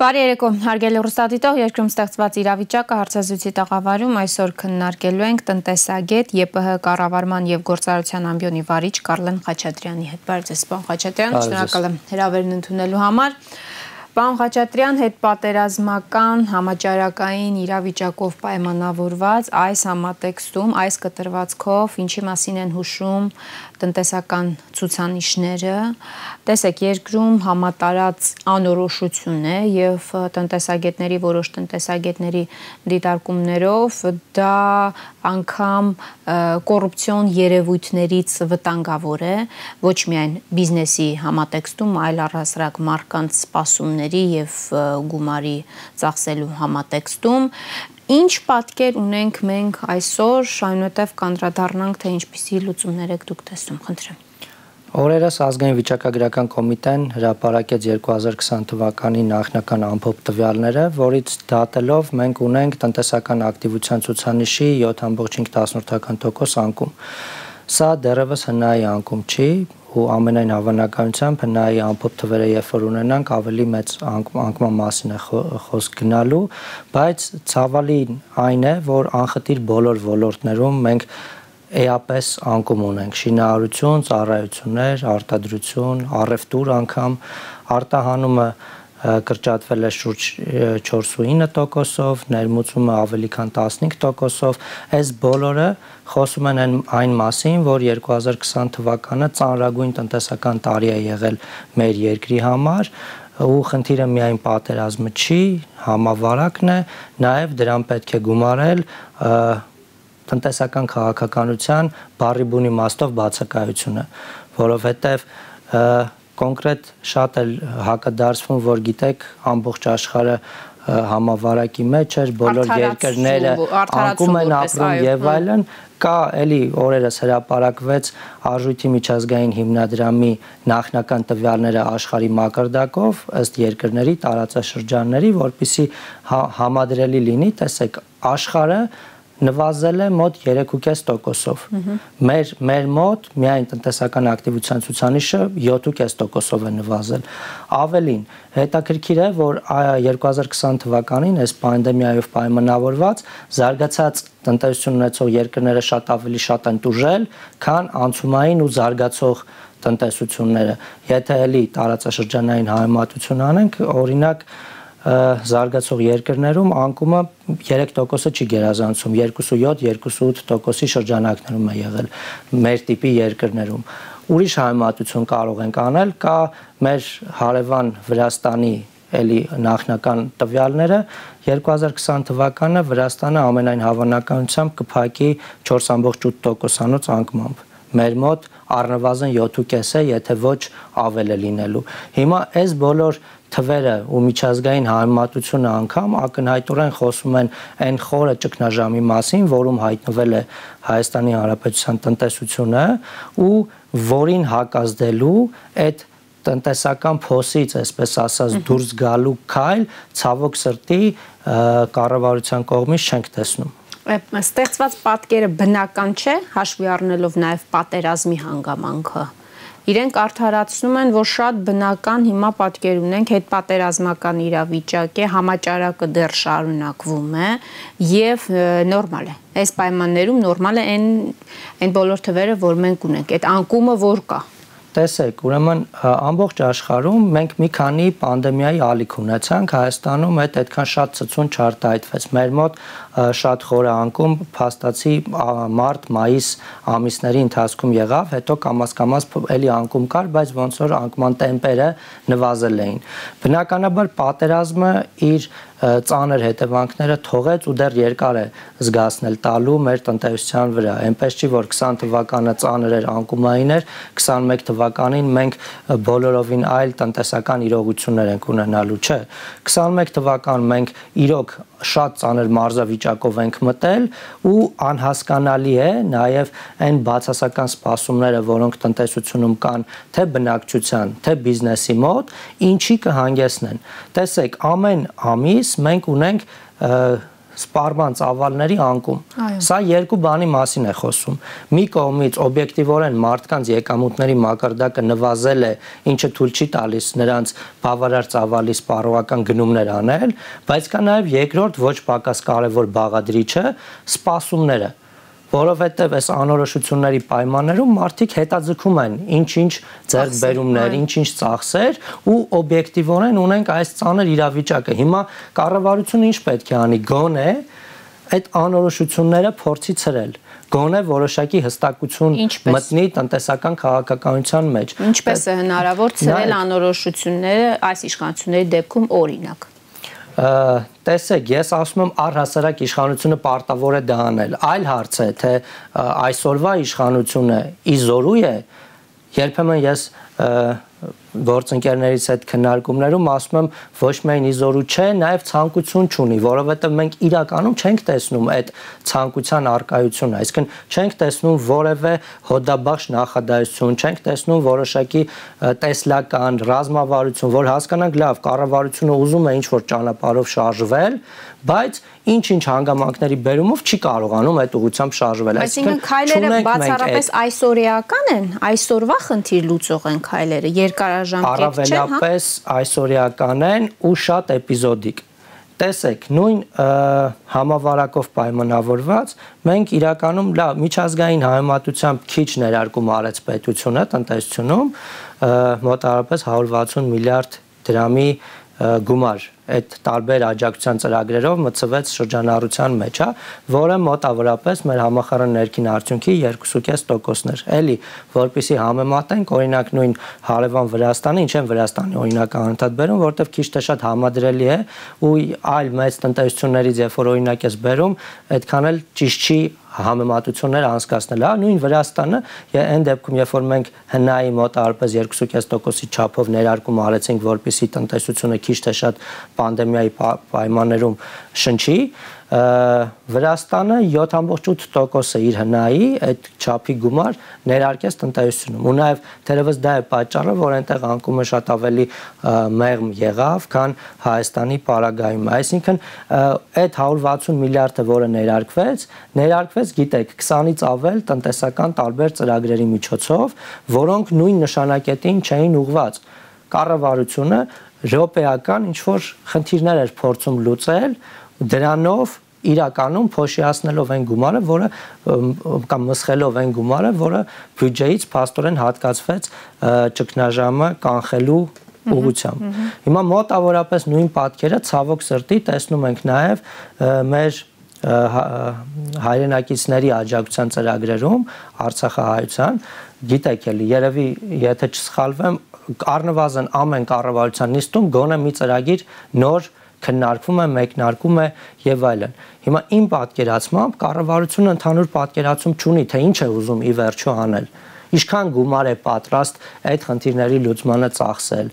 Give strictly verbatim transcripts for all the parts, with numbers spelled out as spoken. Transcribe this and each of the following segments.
Բարի երեկո, հարգելի հեռուստադիտող, երկրում ստեղծված իրավիճակը հարցազրույցի տաղավարում այսօր քննարկելու ենք տնտեսագետ ԵՊՀ կառավարման եւ գործարարության ամբիոնի վարիչ Կարլեն Խաչատրյանի հետ։ Բարև ձեզ, պարոն Խաչատրյան, շնորհակալ եմ հրավերն ընդունելու համար։ Պարոն Խաչատրյան, հետպատերազմական համաճարակային իրավիճակով պայմանավորված այս համատեքստում, այս կտրվածքով ինչի մասին են հուշում տնտեսական ցուցանիշները, տեսեք, երկրում համատարած անորոշություն է եւ տնտեսագետների, որոշ տնտեսագետների դիտարկումներով դա անգամ կոռուպցիոն երևույթներից վտանգավոր է, ոչ միայն բիզնեսի համատեքստում, այլ առհասարակ մարդկանց սպասումների եւ գումարի ծախսելու համատեքստում։ Ինչ պատկեր ունենք մենք այսօր, այնուհետև կանդրադառնանք, թե ինչպիսի լուծումներ եք դուք տեսնում, խնդրեմ։ Օրերս ազգային վիճակագրական կոմիտեն հրապարակեց երկու հազար քսան թվականի նախնական ամփոփ տվյալները, որից դատելով մենք ունենք տնտեսական ակտիվության ցուցանիշի յոթ կoma հինգ տոկոս անկում։ Սա դեռևս հնայի անկում չի, ու ամենայն հավանականությամբ հնայի ամփոփ թվերը երբ որ ունենանք ավելի մեծ անկման մասին է խոսք գնալու, բայց ցավալին այն է, որ անխտիր բոլոր ոլորտներում մենք էապես անկում ունենք՝ շինարարություն, ծառայություններ, արտադրություն, առևտուր անգամ, արտահանումը կրճատվել է շուրջ չորս կoma ինը տոկոսով, ներմուծումը ավելի քան տասնհինգ տոկոսով, այս բոլորը խոսում են այն մասին, որ երկու հազար քսան թվականը ծանրագույն տնտեսական տարի է եղել մեր երկրի համար, ու խնդիրը միայն պատերազմը չի, համավարակն է, նաև դրան պետք է գումարել տնտեսական քաղաքականության բառի բուն իմաստով բացակայությունը, որովհետև կոնկրետ շատ էլ հակադարձվում, որ գիտեք, ամբողջ աշխարհը համավարակի մեջ էր, բոլոր երկրները անկում են ապրում եւ այլն, կա էլի օրերս հրապարակվեց Արժույթի միջազգային հիմնադրամի նախնական տվյալները աշխարհի մակարդակով ըստ երկրների, տարածաշրջանների, որպեսզի համադրելի լինի, տեսեք, աշխարհը նվազել է մոտ երեք կoma պենս տոկոսով։ Մեր մեր մոտ միայն տնտեսական ակտիվության ցուցանիշը յոթ կoma պենս տոկոսով է նվազել։ Ավելին, հետաքրքիր է, որ երկու հազար քսան թվականին այս պանդեմիայով պայմանավորված զարգացած տնտեսություն ունեցող երկրները շատ ավելի շատ են տուժել, քան անցումային ու զարգացող տնտեսությունները։ Եթե էլի տարածաշրջանային համեմատություն անենք, օրինակ զարգացող երկրներում անկումը երեք տոկոսը չի գերազանցում, երկու կoma յոթ - երկու կoma ութ տոկոսի շրջանակներում է եղել մեր տիպի երկրներում։ Ուրիշ համեմատություն կարող ենք անել, կա մեր հարևան Վրաստանի էլի նախնական տվյալները, երկու հազար քսան թվականը Վրաստանը ամենայն հավանականությամբ կփակի չորս կoma ութ տոկոսանոց անկմամբ։ Մեր մոտ առնվազն յոթ կoma պենս է, եթե ոչ ավել է լինելու։ Հիմա այս բոլոր թվերը ու միջազգային համեմատությունը անգամ ակնհայտորեն խոսում են այն խորը ճգնաժամի մասին, որում հայտնվել է Հայաստանի Հանրապետության տնտեսությունը ու որին հակազդելու այդ տնտեսական փոսից, այսպես ասած, դուրս գալու քայլ ցավոք սրտի կառավարության կողմից չենք տեսնում։ Ստեղծված պատկերը բնական չէ, հաշվի առնելով նաև պատերազմի հանգամանքը։ Իրենք արդարացնում են, որ շատ բնական հիմա պատկեր ունենք, հետպատերազմական իրավիճակ է, համաճարակը դեռ շարունակվում է եւ նորմալ է։ Այս պայմաններում նորմալ է այն այն բոլոր թվերը, որ մենք ունենք, այդ անկումը որ կա։ Տեսեք, ուրեմն ամբողջ աշխարհում մենք մի քանի պանդեմիայի ալիք ունեցանք, Հայաստանում այդ այդքան շատ ցցուն չարտահայտվեց։ Մեր մոտ շատ խորը անկում փաստացի մարտ, մայիս ամիսների ընթացքում եղավ, հետո կամաց-կամաց էլի անկում կար, բայց ոնց որ անկման տեմպերը նվազել էին։ Բնականաբար պատերազմը իր ծանր հետևանքները թողեց ու դեռ երկար է զգացնել տալու մեր տնտեսության վրա։ Այնպես չի, որ քսան թվականը ծանր էր, անկումային էր, քսանմեկ թվականին մենք բոլորովին այլ տնտեսական իրողություններ ենք ունենալու, չէ։ քսանմեկ թվական մենք իրոք շատ ծանր մարզավիճակով ենք մտել ու անհասկանալի է նաև այն բացասական սպասումները, որոնք տնտեսությունում կան, թե բնակչության, թե բիզնեսի մոտ, ինչի կհանգեցնեն։ Տեսեք, ամեն ամիս մենք ունենք սպառման ծավալների անկում։ Սա երկու բանի մասին է խոսում։ Մի կողմից օբյեկտիվորեն մարդկանց եկամուտների մակարդակը նվազել է, ինչը թույլ չի տալիս նրանց բավարար ծավալի սպառողական գնումներ անել, բայց կա նաև երկրորդ ոչ պակաս կարևոր բաղադրիչը՝ սպասումները, որովհետև այս անորոշությունների պայմաններում մարդիկ հետաձգում են ինչ-ինչ ձեռքբերումներ, ինչ-ինչ ծախսեր ու օբյեկտիվորեն ունենք այս ծանր իրավիճակը։ Հիմա կառավարությունը ինչ պետք է անի, գոնե այդ անորոշությունները փորձի ցրել, գոնե որոշակի հստակություն մտնի տնտեսական քաղաքականության մեջ։ Ինչպես է հնարավոր ցրել անորոշությունները այս իշխանությունների դեպքում, օրինակ։ Տեսեք, ես ասում եմ առհասարակ իշխանությունը պարտավոր է դա անել։ Այլ հարց է, թե այսօրվա իշխանությունը իզորու է, երբեմն ես գործընկերներից հետ քննարկումներում ասում եմ ոչ միայն իզորու չէ, նաև ցանկություն չունի, որովհետև մենք իրականում չենք տեսնում այդ ցանկության արկայությունը, այսինքն չենք տեսնում որևէ հոդաբաշխ նախադասություն, չենք տեսնում որոշակի տեսլական ռազմավարություն, որ հասկանանք լավ, կառավարությունը ուզում է ինչ-որ ճանապարհով շարժվել, բայց ինչ-ինչ հանգամանքների բերումով չի կարողանում այդ ուղղությամբ շարժվել։ Այսինքն քայլերը բացառապես այսօրեական են, այսօրվա խնդիր լուծող են քայլերը, երկարաժամկետ չեն, հա։ Առավելապես այսօրեական են ու շատ էպիզոդիկ։ Տեսեք, նույն համավարակով պայմանավորված մենք իրականում լավ միջազգային համեմատությամբ քիչ ներարկում արեց պետությունը տնտեսությունում, մոտավորապես հարյուր վաթսուն միլիարդ դրամի գումար այդ տարբեր աջակցության ծրագրերով մցվեց շրջանառության մեջ, հա, որը մոտավորապես մեր համախառն ներքին արդյունքի երկու կես տոկոսն էր։ Էլի, որպեսզի համեմատենք, օրինակ նույն հարևան Վրաստանը, ինչ են Վրաստանի օրինակը անընդհատ բերում, որովհետև քիչ թե շատ համադրելի է ու այլ մեծ տնտեսություններից, երբ որ օրինակ ես բերում, այդքան էլ ճիշտ չի համեմատություններ անցկացնել, հա, նույն Վրաստանը, այն դեպքում, երբ որ մենք հնայի մոտավորապես երկու կես տոկոսի չափով ներարկում արեցինք, որպեսզի տնտեսությունը քիչ թե շատ պանդեմիայի պայմաններում շնչի, Վրաստանը յոթ կόμμα ութ տոկոսը իր հնայի այդ չափի գումար ներարկեց տնտեսությունում։ Ու նաև թերևս դա է պատճառը, որ այնտեղ անկումը շատ ավելի մեղմ եղավ, քան Հայաստանի պարագայում։ Այսինքն այդ հարյուր վաթսուն միլիարդը, որը ներարկվեց, ներարկվեց, գիտեք, քսանից ավել տնտեսական տարբեր ծրագրերի միջոցով, որոնք նույն նշանակետին չէին ուղղված։ Կառավարությունը ռոպեական ինչ-որ խնդիրներ էր փորձում լուծել, դրանով իրականում փոշիացնելով այն գումարը, որը կամ մսխելով այն գումարը, որը բյուջեից փաստորեն հատկացվեց ճգնաժամը կանխելու ուղղությամբ։ Հիմա մոտավորապես նույն պատկերը ցավոք սրտի տեսնում ենք նաև մեր հայրենակիցների աջակցության ծրագրերում Արցախահայության, գիտեք էլի, երևի եթե չսխալվեմ, առնվազն ամեն կառավարության նիստում գոնե մի ծրագիր նոր քննարկվում է, մեկնարկում է եւ այլն։ Հիմա իմ պատկերացմամբ կառավարությունը ընդհանուր պատկերացում չունի, թե ինչ է ուզում ի վերջո անել։ Ինչքան գումար է պատրաստ այդ խնդիրների լուծմանը ծախսել։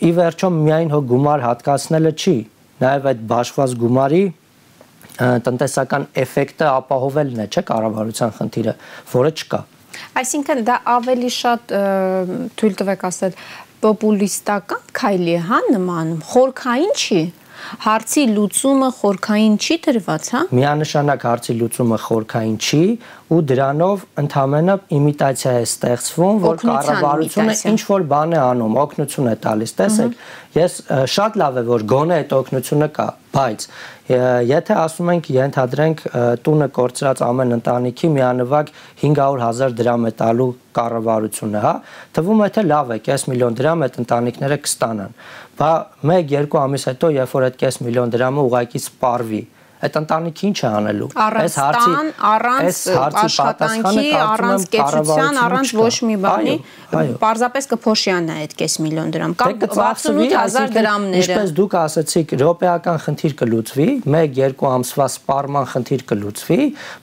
Ի վերջո միայն հո գումար հատկացնելը չի, նաեւ այդ բաշխված գումարի տնտեսական էֆեկտը ապահովելն է, չէ՞, կառավարության խնդիրը, որը չկա։ Այսինքն դա ավելի շատ թույլ տվեք ասել պոպուլիստական քայլի է, հա, նմանում, խորքային չի, հարցի լուծումը խորքային չի դրված, հա։ Միանշանակ հարցի լուծումը խորքային չի ու դրանով ընդհանրապես իմիտացիա է ստեղծվում, որ կառավարությունը ինչ որ բան է անում, օգնություն է տալիս։ Տեսեք, ես շատ լավ է, որ գոնե այդ օգնությունը կա, բայց եթե ասում ենք, ենթադրենք տունը կորցրած ամեն ընտանիքի միանվագ հինգ հարյուր հազար դրամ է տալու կառավարությունը, հա, թվում է թե լավ է, կես միլիոն դրամ այդ ընտանիքները կստանան։ Բա մեկ-երկու ամիս հետո, երբ որ այդ կես միլիոն դրամը ուղղակի սպառվի, այդ ընտանիքը ինչ է անելու։ Առանց տան, առանց աշխատանքի, առանց կեցության, առանց ոչ մի բանի, պարզապես կփոշիանա այդ կես միլիոն դրամ կամ վաթսունութ հազար դրամները։ Ինչպես դուք ասացիք, ռոպեական խնդիր կլուծվի, մեկ-երկու ամսվա սպառման խնդիր կլուծվի,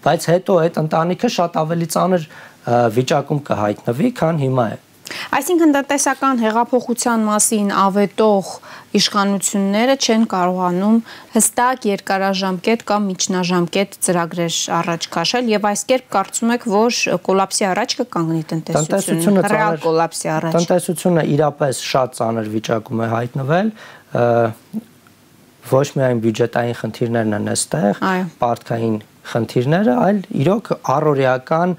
բայց հետո այդ ընտանիքը շատ ավելի ծանր վիճակում կհայտնվի, քան հիմա է։ Այսինքն տնտեսական հեղափոխության մասին ավետող իշխանությունները չեն կարողանում հստակ երկարաժամկետ կամ միջնաժամկետ ծրագրեր առաջ քաշել եւ այս կերպ կարծում եք, որ կոլապսի առաջ կկանգնի տնտեսությունը, ռեալ կոլապսի առաջ։ Տնտեսությունը իրապես շատ ծանր վիճակում է հայտնվել, ոչ միայն բյուջետային խնդիրներն են այստեղ, պարտքային խնդիրները, այլ իրոք առօրեական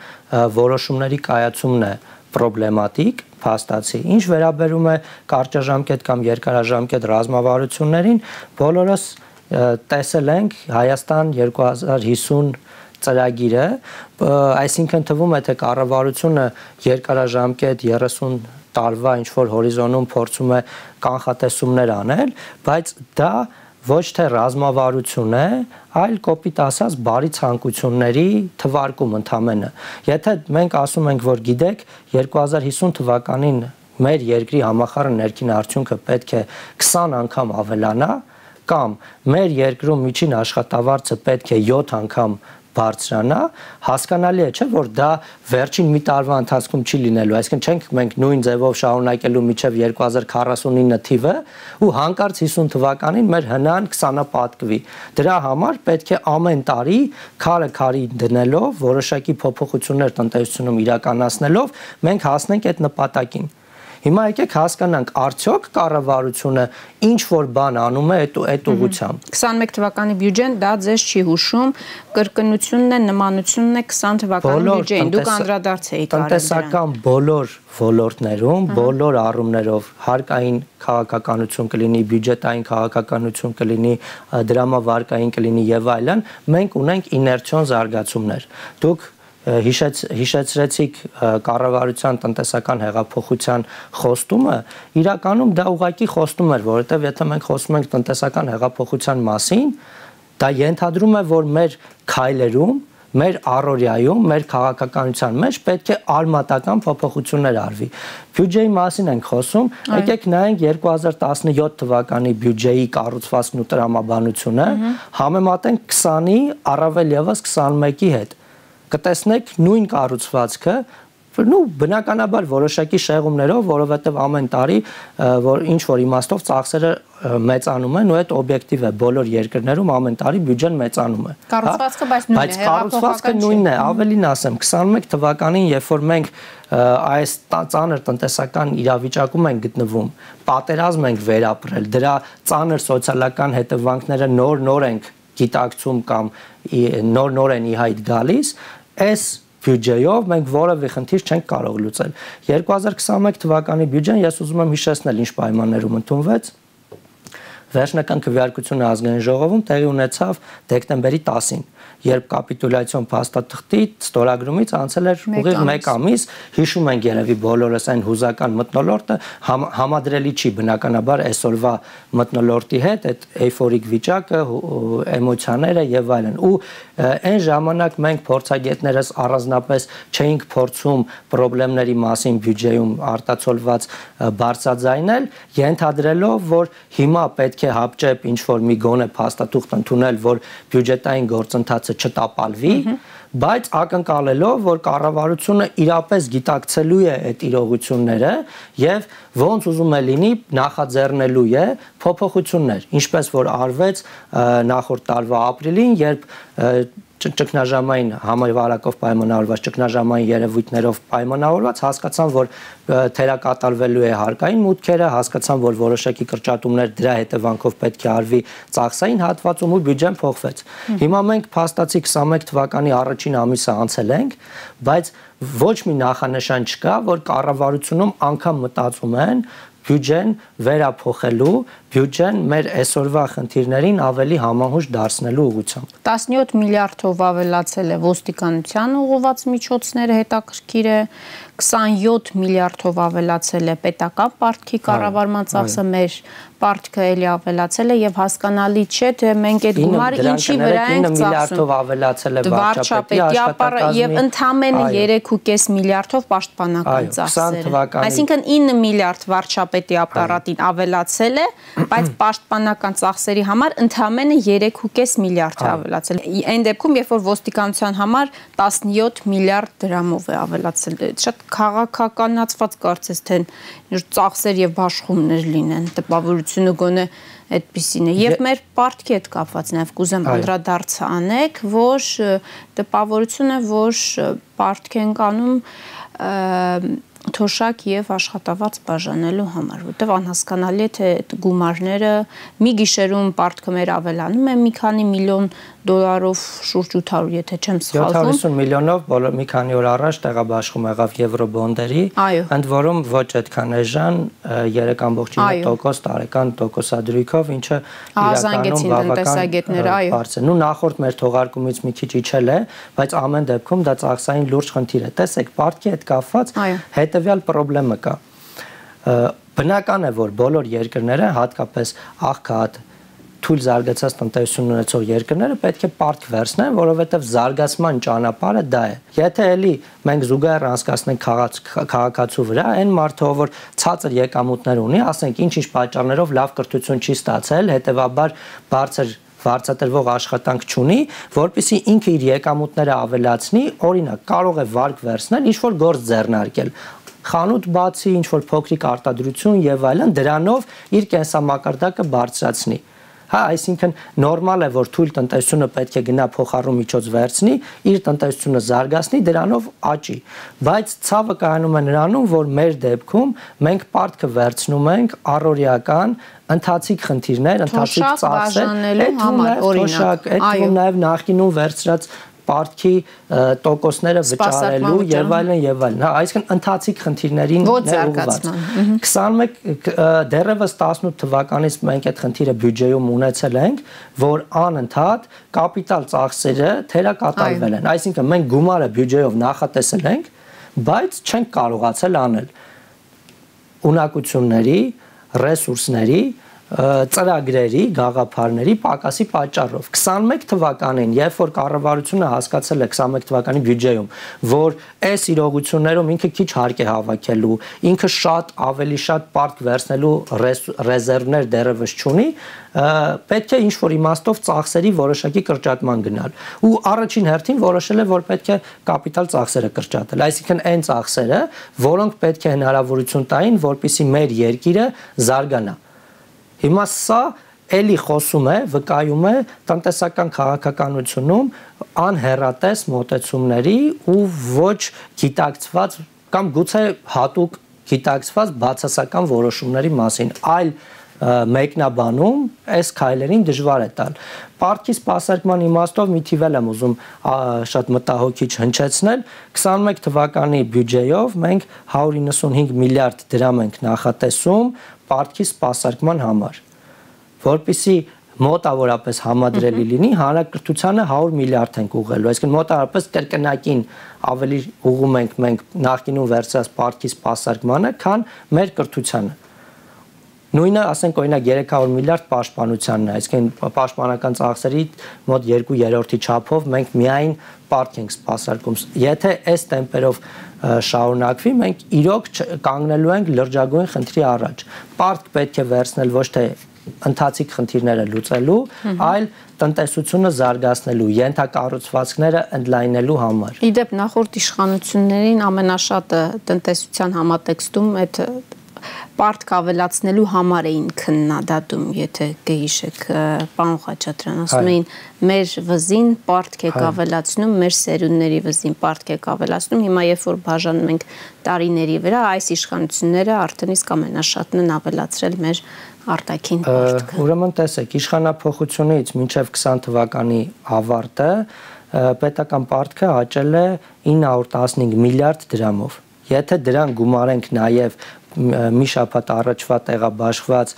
որոշումների կայացումն է պրոբլեմատիկ, փաստացի։ Ինչ վերաբերում է կարճաժամկետ կամ երկարաժամկետ ռազմավարություններին, բոլորս տեսել ենք Հայաստան երկու հազար հիսուն ծրագիրը, այսինքն թվում է թե կառավարությունը երկարաժամկետ երեսուն տարվա ինչ որ հորիզոնում փորձում է կանխատեսումներ անել, բայց դա ոչ թե ռազմավարություն է, այլ կոպիտ ասած բարի ցանկությունների թվարկում ընդամենը։ Եթե մենք ասում ենք, որ գիտեք, երկու հազար հիսուն թվականին մեր երկրի համախառն ներքին արդյունքը պետք է քսան անգամ ավելանա, կամ մեր երկրում միջին աշխատավարձը պետք է յոթ անգամ բարձրանա, հասկանալի է, չէ, որ դա վերջին մի տարվա ընթացքում չի լինելու, այսինքն չենք մենք նույն ձևով շարունակելու մինչև երկու հազար քառասունինը թիվը ու հանկարծ հիսուն թվականին մեր հնան քսանապատկվի։ Դրա համար պետք է ամեն տարի քարը քարի դնելով, որոշակի փոփոխություններ տնտեսությունում իրականացնելով մենք հասնենք այդ նպատակին։ Հիմա եկեք հասկանանք, արդյոք կառավարությունը ինչ որ բան անում է այդ ուղղությամբ։ քսանմեկ թվականի բյուջեն դա ձեզ չի հուշում, կրկնությունն է, նմանությունն է քսան թվականի բյուջեին, դուք անդրադարձ եք արել դրան։ Տնտեսական բոլոր ոլորտներում, բոլոր առումներով հարկային քաղաքականություն կլինի, բյուջետային քաղաքականություն կլինի, դրամավարկային կլինի եւ այլն, մենք ունենք իներցիոն զարգացումներ։ Դուք Հիշեց, հիշեցրեցիք կառավարության տնտեսական հեղափոխության խոստումը, իրականում դա ուղղակի խոստում էր, որովհետև եթե մենք խոսում ենք տնտեսական հեղափոխության մասին, դա ենթադրում է, որ մեր քայլերում, մեր առօրյայում, մեր քաղաքականության մեջ պետք է արմատական փոփոխություններ արվի։ Բյուջեի մասին ենք խոսում, եկեք նայենք երկու հազար տասնյոթ թվականի բյուջեի կառուցվածքն ու տրամաբանությունը, համեմատենք քսանի, առավել ևս քսանմեկի հետ։ Կտեսնեք նույն կառուցվածքը, նու բնականաբար որոշակի շեղումներով, որովհետև ամեն տարի որ ինչ որ իմաստով ծախսերը մեծանում են ու այդ օբյեկտիվ է, բոլոր երկրներում ամեն տարի բյուջեն մեծանում է։ Կառուցվածքը բայց նույնն է, բայց կառուցվածքը նույնն է, ավելին ասեմ, քսանմեկ թվականին, երբ որ մենք այս ծանր տնտեսական իրավիճակում ենք գտնվում, պատերազմ ենք վերապրել, դրա ծանր սոցիալական հետևանքները նոր-նոր ենք գիտակցում կամ նոր-նոր են ի հայտ գալիս, այս բյուջեով մենք որևէ խնդիր չենք կարող լուծել։ երկու հազար քսանմեկ թվականի բյուջեն ես ուզում եմ հիշեցնել ինչ պայմաններում ընդունվեց։ Վերջնական քվեարկությունը ազգային ժողովում տեղի ունեցավ դեկտեմբերի տասին, երբ կապիտուլյացիոն փաստաթղթի ստորագրումից անցել էր ուղիղ մեկ ամիս, հիշում ենք երևի բոլորս այն հուզական մթնոլորտը, համադրելի չի բնականաբար այսօրվա մթնոլորտի հետ, այդ էյֆորիկ վիճակը, էմոցիաները եւ այլն։ Ու այն ժամանակ մենք փորձագետներս առանձնապես չէինք փորձում խնդիրների մասին բյուջեում արտացոլված բարձրաձայնել, ենթադրելով, որ հիմա պետք է հապճեպ ինչ որ մի գոնե փաստաթուղթ ընդունել, որ բյուջետային գործընթացը չտապալվի, բայց ակնկալելով, որ կառավարությունը իրապես գիտակցելու է այդ իրողությունները եւ ոնց ուզում է լինի նախաձեռնելու է փոփոխություններ, ինչպես որ արվեց նախորդ տարվա ապրիլին, երբ ճգնաժամային համավարակով պայմանավորված, ճգնաժամային երևույթներով պայմանավորված հասկացան, որ թերակատարվելու է հարկային մուտքերը, հասկացան, որ որոշակի կրճատումներ դրա հետևանքով պետք է արվի ծախսային հատվածում ու բյուջեն փոխվեց։ Հիմա մենք փաստացի քսանմեկ թվականի առաջին ամիսը անցել ենք, բայց ոչ մի նախանշան չկա, որ կառավարությունում անգամ մտածում են բյուջեն վերափոխելու, բյուջեն մեր այսօրվա խնդիրներին ավելի համահունչ դարձնելու ուղղությամբ։ տասնյոթ միլիարդով ավելացել է ոստիկանության ուղղված միջոցները, հետաքրքիր է, քսանյոթ միլիարդով ավելացել է պետական պարտքի կառավարման ծախսը, մեր պարտքը էլի ավելացել է եւ հասկանալի չէ, թե մենք այդ գումարը ինչի վրա ենք ծախսում։ միլիարդով ավելացել է վարչապետի ապարը եւ ընդամենը երեք ու կես միլիարդով պաշտպանական ծախսերը։ Այսինքն ինը միլիարդ վարչապետի ապարատին ավելացել է, բայց պաշտպանական ծախսերի համար ընդամենը երեք ու կես միլիարդ է ավելացել։ Այն դեպքում, երբ որ ոստիկանության համար տասնյոթ միլիարդ դրամով է ավելացել, շատ քաղաքականացված կարծես թե ծախսեր եւ բաշխումներ լինեն, տպավորությունը գոնե այդպիսին է։ Եվ մեր պարտքի հետ կապված նաեւ կուզեմ անդրադարձ անեք, որ տպավորությունը, որ պարտք ենք անում թոշակ եւ աշխատավարձ բաժանելու համար, որտեղ անհասկանալի է թե այդ գումարները մի գիշերում պարտքը մեր ավելանում է մի քանի միլիոն դոլարով, շուրջ ութ հարյուր, եթե չեմ սխալվում։ յոթ հարյուր միլիոնով բոլոր մի քանի օր առաջ տեղաբաշխում եղավ եվրոբոնդերի, ընդ որում ոչ այդքան էժան երեք կόμma ինը տոկոս տարեկան տոկոսադրույքով, ինչը իրականում բավական բարձր է։ Նու նախորդ մեր թողարկումից մի քիչ իջել է, բայց ամեն դեպքում դա ծախսային լուրջ խնդիր է։ Տեսեք, պարտքի հետ կապված հետևյալ խնդրեմը կա։ Բնական է, որ բոլոր երկրները, հատկապես աղքատ թույլ զարգացած տնտեսություն ունեցող երկրները պետք է պարտք վերցնեն, որովհետև զարգացման ճանապարհը դա է։ Եթե էլի մենք զուգահեռ անցկացնենք քաղաքացու վրա, այն մարդը, որ ցածր եկամուտներ ունի, ասենք ինչ-ինչ պատճառներով լավ կրթություն չի ստացել, հետևաբար բարձր վարձատրվող աշխատանք չունի, որպեսզի ինքը իր եկամուտները ավելացնի, օրինակ, կարող է վարկ վերցնել, ինչ-որ գործ ձեռնարկել, խանութ բացի, ինչ-որ փոքրիկ արտադրություն եւ այլն, դրանով իր կենսամակարդակը բարձրացնի։ Հա, այսինքն նորմալ է, որ թույլ տնտեսությունը պետք է գնա փոխառու միջոց վերցնի, իր տնտեսությունը զարգացնի, դրանով աճի։ Բայց ցավը կայանում է նրանում, որ մեր դեպքում մենք պարտքը վերցնում ենք առօրյական ընթացիկ խնդիրներ, ընթացիկ ծախսեր, օրինակ, այդ նաև նախկինում վերցրած պարտքի տոկոսները վճարելու եւ այլն եւ այլն։ Հա, այսինքն ընթացիկ խնդիրներին ուղղված։ քսանմեկ դեռևս տասնութ թվականից մենք այդ խնդիրը բյուջեում ունեցել ենք, որ անընդհատ կապիտալ ծախսերը թերակատարվել են։ Այսինքն մենք գումարը բյուջեով նախատեսել ենք, բայց չենք կարողացել անել ունակությունների, ռեսուրսների ծրագրերի, գաղափարների պակասի պատճառով։ քսանմեկ թվականին, երբ որ կառավարությունը հասկացել է քսանմեկ թվականի բյուջեում, որ այս իրողություններում ինքը քիչ հարկ է հավաքելու, ինքը շատ ավելի շատ պարտք վերցնելու ռեզերվներ դեռևս չունի, պետք է ինչ-որ իմաստով ծախսերի որոշակի կրճատման գնալ։ Ու առաջին հերթին որոշել է, որ պետք է կապիտալ ծախսերը կրճատել, այսինքն այն ծախսերը, որոնք պետք է հնարավորություն տային, որպեսզի մեր երկիրը զարգանա։ Հիմա սա էլի խոսում է, վկայում է տնտեսական քաղաքականությունում անհեռատես մոտեցումների ու ոչ գիտակցված կամ գուցե հատուկ գիտակցված բացասական որոշումների մասին, այլ մեկնաբանում այս քայլերին դժվար է տալ։ Պարտքի սպասարկման իմաստով մի թիվ եմ ուզում շատ մտահոգիչ հնչեցնել, քսանմեկ թվականի բյուջեով մենք հարյուր իննսունհինգ միլիարդ դրամ ենք նախատեսում պարտքի սպասարկման համար, որպեսզի մոտավորապես համադրելի լինի, հանրակրթությանը հարյուր միլիարդ ենք ուղղելու, այսինքն մոտավորապես կրկնակին ավելի ուղղում ենք մենք նախկինում վերցրած պարտքի սպասարկմանը, քան մեր կրթությանը։ Նույնը, ասենք, օրինակ երեք հարյուր միլիարդ պաշտպանությանն է, այսինքն պաշտպանական ծախսերի մոտ երկու երրորդի չափով մենք միայն պարտք ենք սպասարկում։ Եթե այս տեմպերով շարունակվի, մենք իրոք կանգնելու ենք լրջագույն խնդրի առաջ։ Պարտք պետք է վերցնել ոչ թե ընթացիկ խնդիրները լուծելու, այլ տնտեսությունը զարգացնելու, ենթակառուցվածքները ընդլայնելու համար։ Իդեպ նախորդ իշխանություններին ամենաշատը տնտեսության համատեքստում այդ պարտք ավելացնելու համար էին քննադատում, եթե կհիշեք, պարոն Խաչատրյան, ասում էին մեր վզին պարտք եք ավելացնում, մեր սերունդների վզին պարտք եք ավելացնում, հիմա երբ որ բաժանում ենք տարիների վրա, այս իշխանությունները արդեն իսկ ամենաշատն են ավելացրել մեր արտաքին պարտքը։ Ուրեմն տեսեք, իշխանափոխությունից մինչև քսան թվականի ավարտը պետական պարտքը աճել է ինը հարյուր տասնհինգ միլիարդ դրամով։ Եթե դրան գումարենք նաև մի շաբաթ առաջվա տեղաբաշխված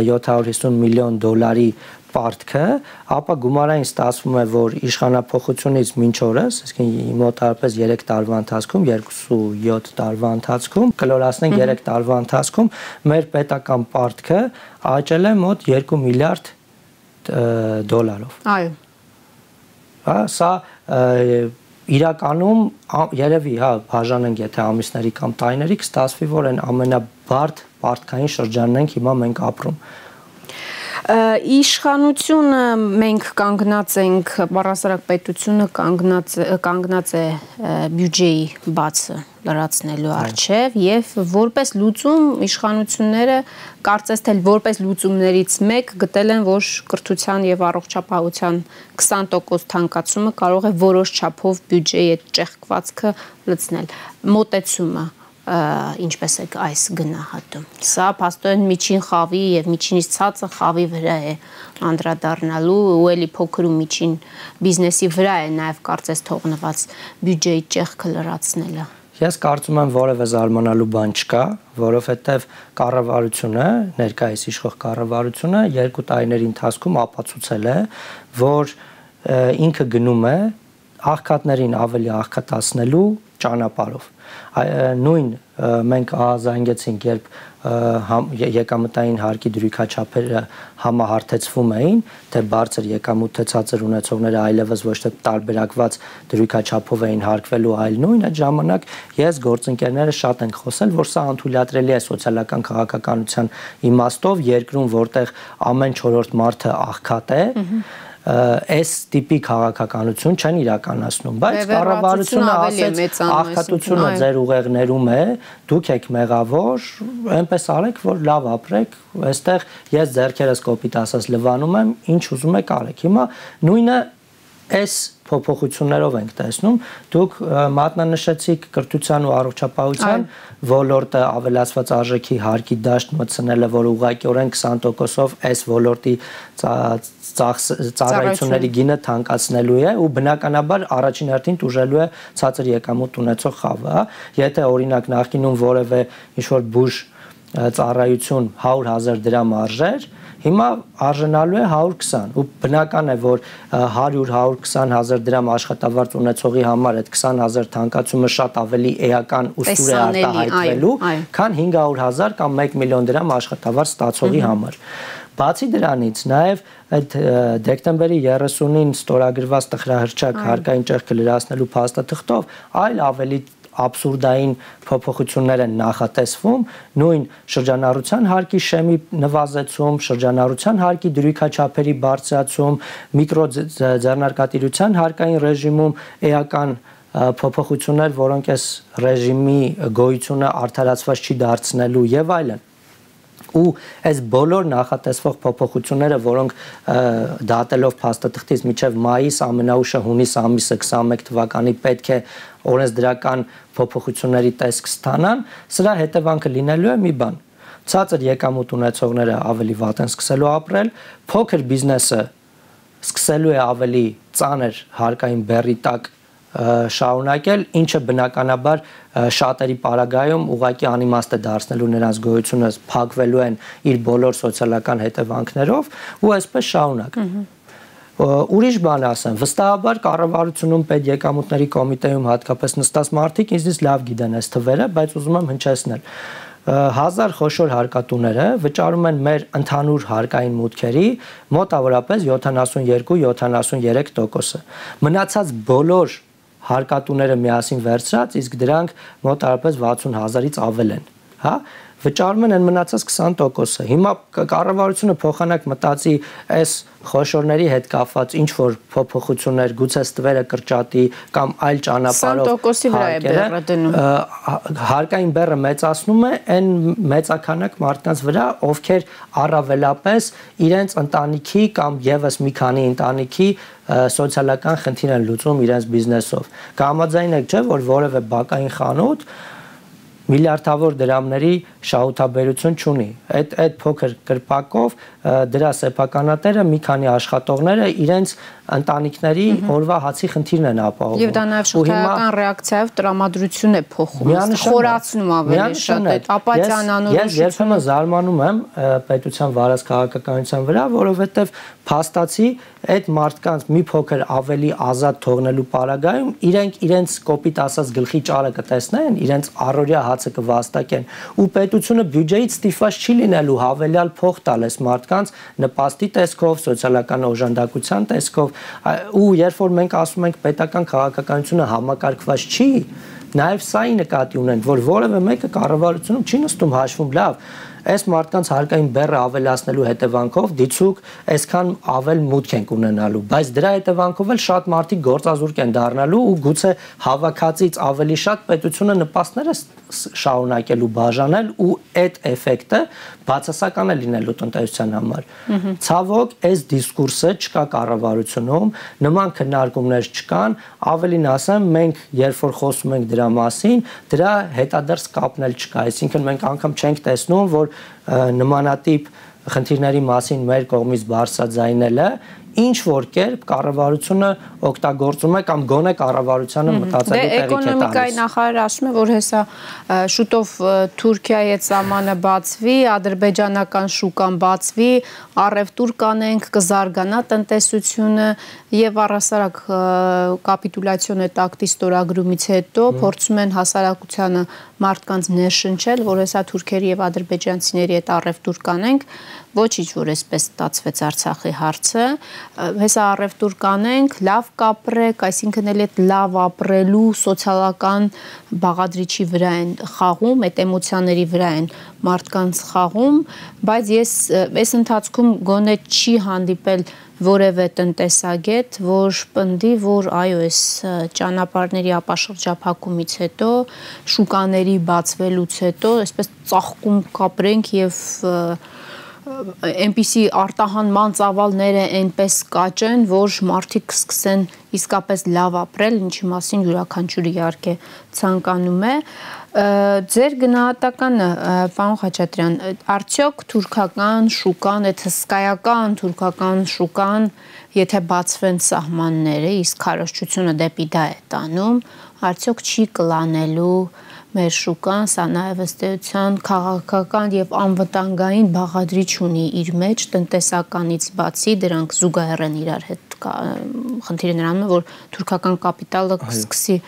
յոթ հարյուր հիսուն միլիոն դոլարի պարտքը, ապա գումարային ստացվում է, որ իշխանափոխությունից մինչ օրս, այսինքն մոտավորապես երեք տարվա ընթացքում, երկուսույոթ տարվա ընթացքում, կլորացնենք երեք տարվա ընթացքում, մեր պետական պարտքը աճել է մոտ երկու միլիարդ դոլարով։ Այո։ Հա, սա իրականում երևի, հա, բաժանենք եթե ամիսների կամ տարիների, կստացվի, որ այն ամենաբարդ պարտքային շրջանն ենք հիմա մենք ապրում։ Իշխանությունը մենք կանգնած ենք, բառասարակ պետությունը կանգնած, կանգնած է բյուջեի բացը լրացնելու առջև եւ որպես լուծում իշխանությունները կարծես թե որպես լուծումներից մեկ գտել են, որ կրթության եւ առողջապահության քսան տոկոս թանկացումը կարող է որոշ չափով բյուջեի այդ ճեղքվածքը լցնել։ Մոտեցումը ինչպես է այս գնահատում։ Սա փաստորեն միջին խավի եւ միջինից ցածր խավի վրա է անդրադառնալու ու էլի փոքր ու միջին բիզնեսի վրա է նաեւ կարծես թողնված բյուջեի ճեղքը լրացնելը։ Ես կարծում եմ որևէ զարմանալու բան չկա, որովհետեւ կառավարությունը, ներկայիս իշխող կառավարությունը երկու տարիների ընթացքում ապացուցել է, որ ինքը գնում է աղքատներին ավելի աղքատացնելու ճանապարհով։ Նույն մենք ահազանգեցինք, երբ եկամտային հարկի դրույքաչափերը համահարթեցվում էին, թե բարձր եկամուտ թե ցածր ունեցողները այլևս ոչ թե տարբերակված դրույքաչափով էին հարկվելու, այլ նույն այդ ժամանակ ես գործընկերները շատ ենք խոսել, որ սա անթույլատրելի է սոցիալական քաղաքականության իմաստով, երկրում, որտեղ ամեն չորրորդ մարդը աղքատ է, այս տիպի քաղաքականություն չեն իրականացնում, բայց կառավարությունը ասեց աղքատությունը ձեր ուղեղներում է, դուք եք մեղավոր, այնպես արեք, որ լավ ապրեք, այստեղ ես ձեռքերս կոպիտ ասած լվանում եմ, ինչ ուզում եք արեք։ Հիմա նույնը այս փոփոխություններով ենք տեսնում, դուք մատնանշեցիք կրթության ու առողջապահության ոլորտը ավելացված արժեքի հարկի դաշտ մտցնելը, որ ուղղակիորեն քսան տոկոսով այս ոլորտի ծառայությունների գինը թանկացնելու է ու բնականաբար առաջին հերթին տուժելու է ցածր եկամուտ ունեցող խավը, եթե օրինակ նախկինում որևէ ինչ-որ բուժ ծառայություն հարյուր հազար դրամ արժեր, հիմա արժանալու է հարյուր քսան ու բնական է, որ հարյուր հարյուր քսան հազար դրամ աշխատավարձ ունեցողի համար այդ քսան հազար թանկացումը շատ ավելի էական ու սուր է արտահայտվելու, քան հինգ հարյուր հազար կամ մեկ միլիոն դրամ աշխատավարձ ստացողի համար։ Բացի դրանից նաև այդ դեկտեմբերի երեսունին ստորագրված տխրահռչակ հարկային ճեղքը լրացնելու փաստաթղթով այլ ավելի աբսուրդային փոփոխություններ են նախատեսվում, նույն շրջանառության հարկի շեմի նվազեցում, շրջանառության հարկի դրույքաչափերի բարձրացում, միկրոձեռնարկատիրության հարկային ռեժիմում էական փոփոխություններ, որոնք այս ռեժիմի գոյությունը արդարացված չի դարձնելու եւ այլն։ Ու այս բոլոր նախատեսվող փոփոխությունները, որոնք դատելով փաստաթղթից մինչև մայիս, ամենաուշը հունիս ամիսը քսաներկու թվականի պետք է օրենսդրական փոփոխությունների տեսք ստանան, սրա հետևանքը լինելու է մի բան. ցածր եկամուտ ունեցողները ավելի վատ են սկսելու ապրել, փոքր բիզնեսը սկսելու է ավելի ծանր հարկային բեռի տակ շարունակել, ինչը բնականաբար շատերի պարագայում ուղղակի անիմաստ է դարձնելու նրանց գոյությունը, փակվելու են իր բոլոր սոցիալական հետևանքներով ու այսպես շարունակ։ Ուրիշ բան ասեմ, վստահաբար կառավարությունում պետեկամուտների կոմիտեում հատկապես նստած մարդիկ ինձնից լավ գիտեն այս թվերը, բայց ուզում եմ հնչեցնել։ Հազար խոշոր հարկատուները վճարում են մեր ընդհանուր հարկային մուտքերի մոտավորապես յոթանասունյոթ յոթանասուներեք տոկոսը։ Մնացած բոլոր հարկատուները միասին վերցրած, իսկ դրանք մոտավորապես վաթսուն հազարից ավել են, հա, վճարում են այն մնացած քսան տոկոսը։ Հիմա կառավարությունը փոխանակ մտածի այս խոշորների հետ կապված ինչ որ փոփոխություններ, գուցե ստվերը կրճատի կամ այլ ճանապարհով քսան տոկոսի վրա է բեռը դնում։ Հարկային բեռը մեծացնում է այն մեծականակ մարդկանց վրա, ովքեր առավելապես իրենց ընտանիքի կամ եւս մի քանի ընտանիքի սոցիալական խնդիր են լուծում իրենց բիզնեսով։ Կհամաձայն եք, չէ՞, որ որևէ բակային խանութ միլիարդավոր դրամների շահութաբերություն չունի։ Այդ այդ փոքր կրպակով դրա սեփականատերը մի քանի աշխատողները իրենց ընտանիքների օրվա հացի խնդիրն են ապահովում։ Եվ դա նաև շղթայական ռեակցիայով տրամադրություն է փոխում, խորացնում ավելի շատ այդ ապաթյան անորոշությունը։ Ես երբեմն զարմանում եմ պետության վարած քաղաքականության վրա, որովհետև փաստացի այդ մարդկանց մի փոքր ավելի ազատ թողնելու պարագայում իրենք իրենց կոպիտ ասած գլխի ճարը կտեսնեն, իրենց առօրյա հացը կվաստակեն ու պետությունը բյուջեից ստիպված չի լինելու հավելյալ փող տալ այս մարդկանց նպաստի տեսքով, սոցիալական օժանդակության տեսքով ու երբ որ մենք ասում ենք պետական քաղաքականությունը համակարգված չի, նաև սա ի նկատի ունենք, որ որևէ մեկը կառավարությունում չի նստում հաշվում լավ այս մարդկանց հարկային բեռը ավելացնելու հետևանքով դիցուկ այսքան ավել մուտք են ունենալու, բայց դրա հետևանքով էլ շատ մարդիկ գործազուրկ են դառնալու ու գուցե հավաքածից ավելի շատ պետությունը նպաստներ է շարունակելու բաժանել ու այդ էֆեկտը բացասական է լինելու տնտեսության համար։ Ցավոք, այս դիսկուրսը չկա կառավարությունում, նման քննարկումներ չկան, ավելին ասեմ, մենք երբ որ խոսում ենք դրա մասին, դրա հետադարձ կապն էլ չկա, այսինքն մենք անգամ չենք տեսնում, որ նմանատիպ խնդիրների մասին մեր կողմից բարձրաձայնելը ինչ որ կերպ կառավարությունը օգտագործում է կամ գոնե կառավարությանը մտածելու տեղիք է տալիս։ Դե էկոնոմիկայի նախարարը ասում է, որ հեսա շուտով Թուրքիայի հետ սահմանը բացվի, ադրբեջանական շուկան բացվի, առևտուր կանենք, կզարգանա տնտեսությունը եւ առհասարակ կապիտուլյացիոն այդ ակտի ստորագրումից հետո փորձում են հասարակությանը մարդկանց ներշնչել, որ հեսա թուրքերի եւ ադրբեջանցիների հետ առևտուր կանենք, ոչինչ որ այսպես ստացվեց Արցախի հարցը, հեսա առևտուր կանենք, լավ կապրեք, այսինքն էլ այդ լավ ապրելու սոցիալական բաղադրիչի վրա են խաղում, այդ էմոցիաների վրա են մարդկանց խաղում, բայց ես այս ընթացքում գոնե չի հանդիպել որևէ տնտեսագետ, որ պնդի, որ այո, այս ճանապարհների ապաշրջափակումից հետո, շուկաների բացվելուց հետո, այսպես ծաղկում կապրենք եւ այնպիսի արտահանման ծավալները այնպես կաճեն, որ մարդիկ սկսեն իսկապես լավ ապրել, ինչի մասին յուրաքանչյուրը իհարկե ցանկանում է։ Ձեր գնահատականը, պարոն Խաչատրյան, արդյոք թուրքական շուկան, այդ հսկայական թուրքական շուկան, եթե բացվեն սահմանները, իսկ քարոզչությունը դեպի դա է տանում, արդյոք չի կլանելու մեր շուկան, սա նաև ըստ էության քաղաքական եւ անվտանգային բաղադրիչ ունի իր մեջ, տնտեսականից բացի, դրանք զուգահեռ են իրար հետ, խնդիրը նրանում է, որ թուրքական կապիտալը կսկսի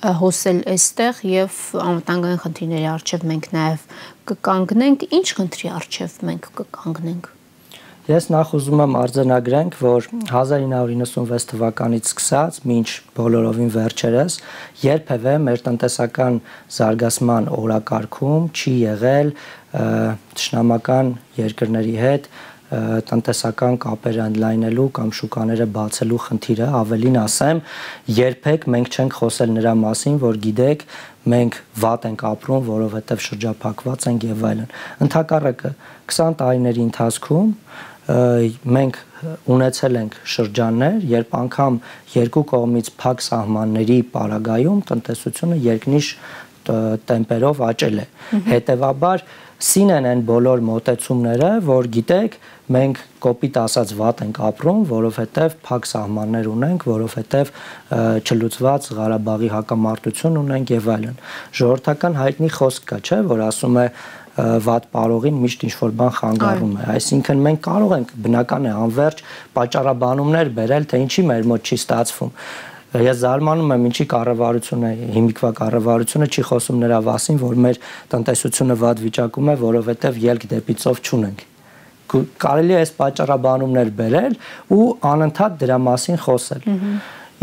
հոսել այստեղ եւ անվտանգային խնդիրների առջեւ մենք նաեւ կկանգնենք, ինչ խնդրի առջեւ մենք կկանգնենք։ Ես նախ ուզում եմ արձանագրենք, որ հազար ինը հարյուր իննսունվեց թվականից սկսած մինչ բոլորովին վերջերս երբևէ մեր տնտեսական զարգացման օրակարգում չի եղել թշնամական երկրների հետ տնտեսական կապեր ընդլայնելու կամ շուկաները բացելու խնդիրը, ավելին ասեմ, երբեք մենք չենք խոսել նրա մասին, որ գիտեք, մենք վատ ենք ապրում, որովհետև շրջափակված ենք եւ այլն։ Ընդհակառակը քսան տարիների ընթացքում մենք ունեցել ենք շրջաններ, երբ անգամ երկու կողմից փակ սահմանների պարագայում տնտեսությունը երկնիշ տեմպերով աճել է։ Հետևաբար սին են այն բոլոր մոտեցումները, որ գիտեք, մենք կոպիտ ասած վատ ենք ապրում, որովհետև փակ սահմաններ ունենք, որովհետև չլուծված Ղարաբաղի հակամարտություն ունենք եւ այլն։ Ժողովրդական հայտնի խոսք կա, չէ, որ ասում է վատ պարողին միշտ ինչ-որ բան խանգարում է, այսինքն մենք կարող ենք բնական է անverջ պատճառաբանումներ բերել, թե ինչի մեր մոտ չի ստացվում։ Ես զարմանում եմ, ինչի կառավարությունը, հիմիկվա կառավարությունը չի խոսում նրա մասին, որ մեր տնտեսությունը վատ վիճակում է, որովհետև ելք դեպի ծով չունենք։ Կարելի է այս պատճառաբանումներ բերել ու անընդհատ դրա մասին խոսել։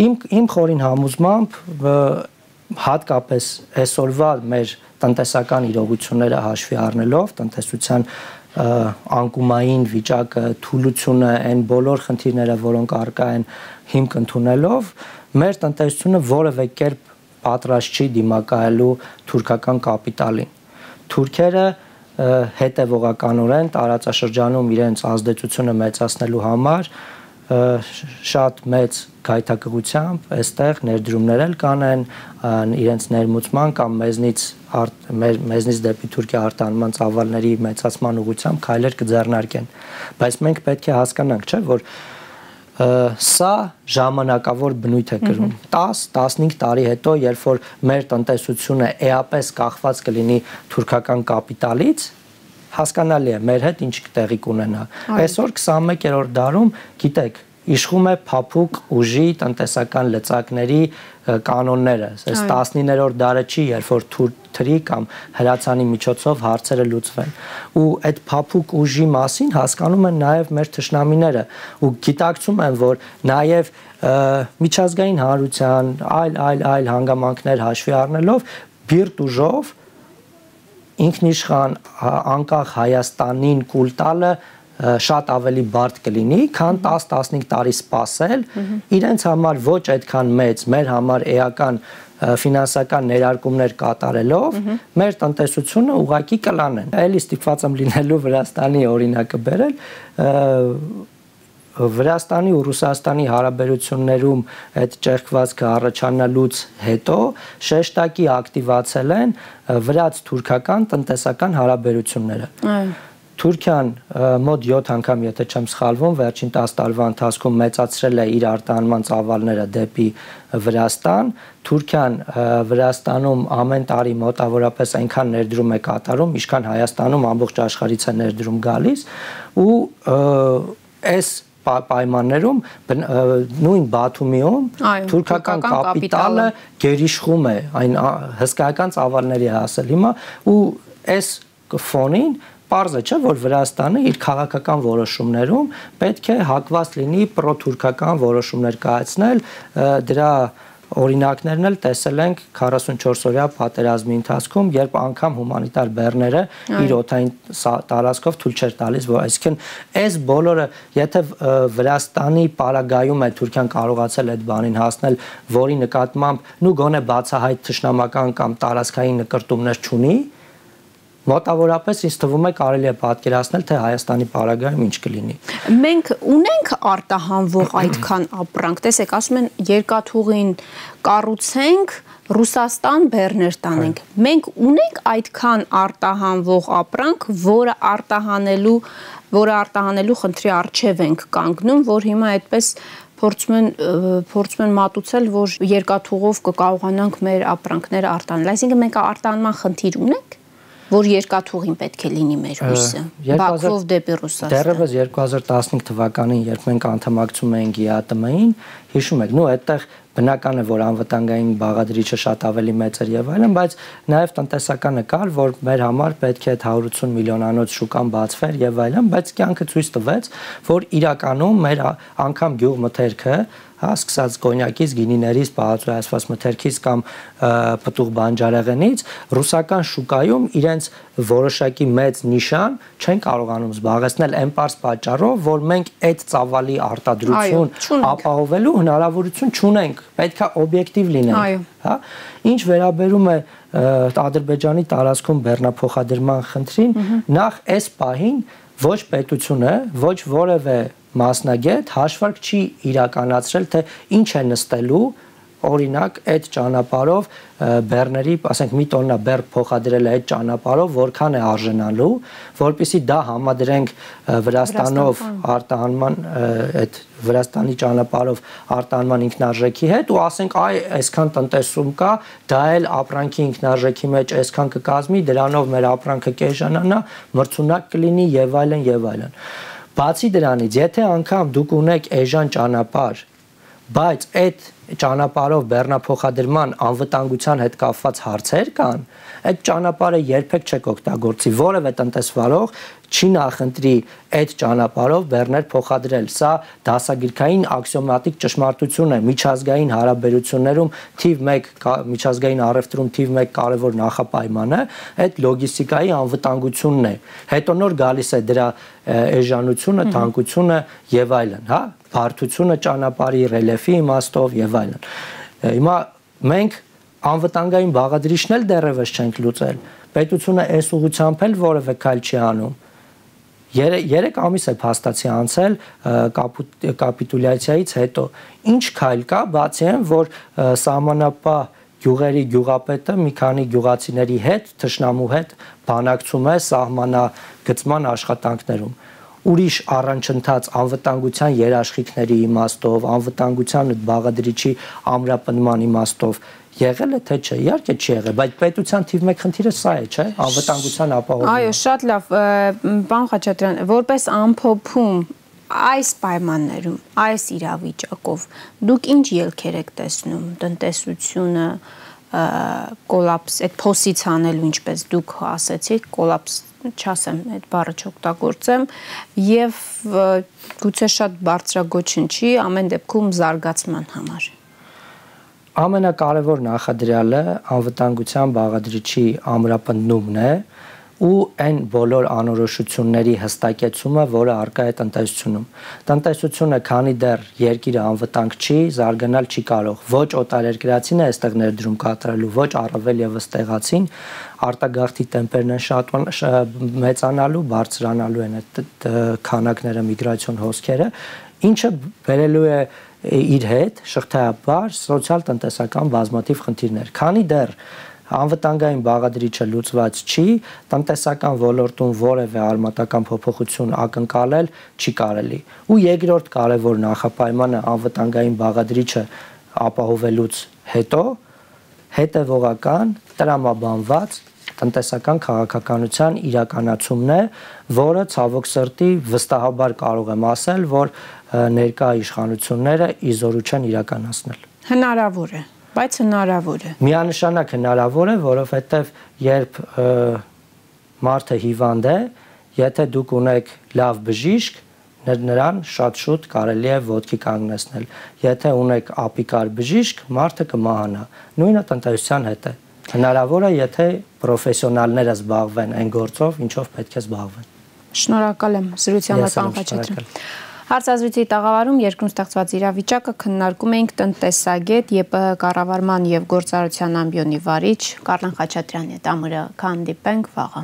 Իմ իմ խորին համոզմամբ հատկապես այսօրվա մեր տնտեսական իրողությունները հաշվի առնելով, տնտեսության անկումային վիճակը, թուլությունը, այն բոլոր խնդիրները, որոնք առկա են հիմք ընդունելով, մեր տնտեսությունը որևէ կերպ պատրաստ չի դիմակայելու թուրքական կապիտալին։ Թուրքերը հետևողականորեն տարածաշրջանում իրենց ազդեցությունը մեծացնելու համար շատ մեծ գայթակղությամբ այստեղ ներդրումներ էլ կանեն իրենց ներմուծման կամ մեզնից մեզնից դեպի Թուրքիա արտահանման ծավալների մեծացման ուղղությամբ քայլեր կձեռնարկեն, բայց մենք պետք է հասկանանք, չէ, որ սա ժամանակավոր բնույթ է կրում։ տաս տասնհինգ տարի հետո, երբ որ մեր տնտեսությունը էապես կախված կլինի թուրքական կապիտալից, հասկանալի է մեր հետ ինչ տեղի կունենա։ Այսօր քսանմեկերորդ դարում, գիտեք, իշխում է փափուկ ուժի տնտեսական լծակների կանոնները։ Այս տասնիններորդ դարը չի, երբ որ թուրքի կամ հրացանի միջոցով հարցերը լուծվեն։ Ու այդ փափուկ ուժի մասին հասկանում են նաև մեր թշնամիները ու գիտակցում են, որ նաև միջազգային հանրության այլ այլ այլ հանգամանքներ հաշվի առնելով բիրտ ուժով ինքնիշխան անկախ Հայաստանին կուլ տալը շատ ավելի բարդ կլինի, քան տաս տասնհինգ տարի սպասել, իրենց համար ոչ այդքան մեծ, մեր համար էական ֆինանսական ներարկումներ կատարելով, մեր տնտեսությունը ուղղակի կլանեն։ Էլի ստիպված եմ լինելու Վրաստանի օրինակը բերել, Վրաստանի ու Ռուսաստանի հարաբերություններում այդ ճեղքվածքը առաջանալուց հետո շեշտակի ակտիվացել են վրաց-թուրքական տնտեսական հարաբերությունները։ Թուրքիան մոտ յոթ անգամ, եթե չեմ սխալվում, վերջին տասը տարվա ընթացքում մեծացրել է իր արտահանման ծավալները դեպի Վրաստան։ Թուրքիան Վրաստանում ամեն տարի մոտավորապես այնքան ներդրում է կատարում, ինչքան Հայաստանում ամբողջ աշխարհից է ներդրում գալիս, ու այս պայմաններում նույն Բաթումիում թուրքական կապիտալը գերիշխում է, այն հսկայական ծավալների է հասել հիմա, ու այս ֆոնին պարզ է, չէ, որ Վրաստանը իր քաղաքական որոշումներում պետք է հակված լինի պրոթուրքական որոշումներ կայացնել, դրա օրինակներն էլ տեսել ենք քառասունչորս օրյա պատերազմի ընթացքում, երբ անգամ հումանիտար բեռները իր օդային տարածքով թույլ չէր տալիս, որ այսինքն այս բոլորը, եթե Վրաստանի պարագայում է Թուրքիան կարողացել այդ բանին հասնել, որի նկատմամբ նու գոնե բացահայտ թշնամական կամ տարածքային նկրտումներ չունի, մոտավորապես ինձ թվում է կարելի է պատկերացնել, թե Հայաստանի պարագայում ինչ կլինի։ Մենք ունենք արտահանվող այդքան ապրանք, տեսեք, ասում են երկաթուղին կառուցենք, Ռուսաստան բեռներ տանենք։ Մենք ունենք այդքան արտահանվող ապրանք, որը արտահանելու, որը արտահանելու խնդրի առջև ենք կանգնում, որ հիմա այդպես փորձում են փորձում են մատուցել, որ երկաթուղով կկարողանանք մեր ապրանքները արտահանել։ Այսինքն մենք արտահանման խնդիր ունենք, որ երկաթուղին պետք է լինի մեր հույսը, Բաքվով դեպի Ռուսաստան։ Դեռևս երկու հազար տասնհինգ թվականին, երբ մենք անդամակցում էինք Գ Ա ՏՄ-ին, հիշում եք, նո այդտեղ բնական է, որ անվտանգային բաղադրիչը շատ ավելի մեծ էր եւ այլն, բայց նաեւ տնտեսականը կար, որ մեր համար պետք է այդ հարյուր ութսուն միլիոնանոց շուկան բացվեր եւ այլն, բայց կյանքը ցույց տվեց, որ իրականում մեր անգամ գյուղմթերքը, հա, սկսած կոնյակից, գինիներից, պահածոյացված մթերքից կամ պտուղ բանջարեղենից ռուսական շուկայում իրենց որոշակի մեծ նիշան չեն կարողանում զբաղեցնել այն պարզ պատճառով, որ մենք այդ ծավալի արտադրություն ապահովելու հնարավորություն չունենք, պետք է օբյեկտիվ լինենք, հա։ Ինչ վերաբերում է Ադրբեջանի տարածքում բեռնափոխադրման խնդրին, նախ այս պահին ոչ պետությունը, ոչ որևէ մասնագետ հաշվարկ չի իրականացրել, թե ինչ է նստելու, օրինակ այդ ճանապարհով բեռների, ասենք մի տոննա բեռ փոխադրել է այդ ճանապարհով, որքան է արժանալու, որպեսզի դա համադրենք Վրաստանով արտահանման այդ Վրաստանի ճանապարհով արտահանման ինքնարժեքի հետ ու ասենք այ այսքան տնտեսում կա, դա էլ ապրանքի ինքնարժեքի մեջ այսքան կկազմի, դրանով մեր ապրանքը կեժանանա, մրցունակ կլինի եւ այլն եւ այլն։ Բացի դրանից, եթե անգամ դուք ունեք էժան ճանապարհ, բայց այդ ճանապարհով բեռնափոխադրման անվտանգության հետ կապված հարցեր կան, այդ ճանապարհը երբեք չեք օգտագործի, որևէ տնտեսվարող չի նախընտրի այդ ճանապարհով բեռներ փոխադրել։ Սա դասագրքային աքսիոմատիկ ճշմարտություն է միջազգային հարաբերություններում թիվ մեկ միջազգային առևտրում թիվ մեկ կարևոր նախապայմանը այդ լոգիստիկայի անվտանգությունն է։ Հետո նոր գալիս է դրա էժանությունը, թանկությունը եւ այլն, հա, բարդությունը ճանապարհի, ռելիեֆի իմաստով եւ այլն։ Հիմա մենք անվտանգային բաղադրիչն էլ դեռևս չենք լուծել։ Պետությունը այս ուղղությամբ էլ որևէ քայլ չի անում։ Երեք ամիս է փաստացի անցել կապիտուլյացիայից հետո։ Ինչ քայլ կա, բացի այն, որ սահմանապահ գյուղերի գյուղապետը մի քանի գյուղացիների հետ, թշնամու հետ բանակցում է սահմանագծման աշխատանքներում։ Ուրիշ առանցընթաց անվտանգության երաշխիքների իմաստով, անվտանգության բաղադրիչի ամրապնդման իմաստով եղել է թե չէ, իհարկե չի եղել, բայց պետության թիվ մեկ խնդիրը սա է, չէ, անվտանգության ապահովումը։ Այո, շատ լավ, պարոն Խաչատրյան, որպես ամփոփում այս պայմաններում, այս իրավիճակով դուք ինչ ելքեր եք տեսնում, տնտեսությունը կոլապս, այդ փոսից հանելու, ինչպես դուք ասեցիք, կոլապս չասեմ, այդ բառը չօգտագործեմ, եւ գուցե շատ բարձրագոչն չի, ամեն դեպքում զարգացման համար։ Ամենակարևոր նախադրյալը անվտանգության բաղադրիչի ամրապնդումն է ու այն բոլոր անորոշությունների հստակեցումը, որը առկա է տնտեսությունում։ Տնտեսությունը, քանի դեռ երկիրը անվտանգ չի, զարգանալ չի կարող։ Ոչ օտարերկրացին է այստեղ ներդրում կատարելու, ոչ առավել եւս տեղացին, արտագաղթի տեմպերն են շատ մեծանալու, բարձրանալու են այդ քանակները, միգրացիոն հոսքերը, ինչը բերելու է իր հետ շղթայաբար սոցիալ-տնտեսական բազմաթիվ խնդիրներ։ Քանի դեռ անվտանգային բաղադրիչը լուծված չի, տնտեսական ոլորտում որևէ արմատական փոփոխություն ակնկալել չի կարելի։ Ու երկրորդ կարևոր նախապայմանը անվտանգային բաղադրիչը ապահովելուց հետո հետևողական, տրամաբանված տնտեսական քաղաքականության իրականացումն է, որը ցավոք սրտի վստահաբար կարող եմ ասել, որ ներկա իշխանությունները իզորու չեն իրականացնել։ Հնարավոր է, բայց հնարավոր է։ Միանշանակ հնարավոր է, որովհետև երբ մարդը հիվանդ է, եթե դուք ունեք լավ բժիշկ, նրան շատ շուտ կարելի է ոտքի կանգնեցնել։ Եթե ունեք ապիկար բժիշկ, մարդը կմահանա։ Նույնը տնտեսության հետ է։ Հնարավոր է, եթե պրոֆեսիոնալները զբաղվեն այն գործով, ինչով պետք է զբաղվեն։ Շնորհակալ եմ զրույցի համար, պարոն Խաչատրյան։ Հարցազրույցի տաղավարում երկրում ստեղծված իրավիճակը քննարկում էինք տնտեսագետ, ԵՊՀ կառավարման եւ գործարարության ամբիոնի վարիչ Կարլեն Խաչատրյանի հետ։ Ամուրը կհանդիպենք վաղը։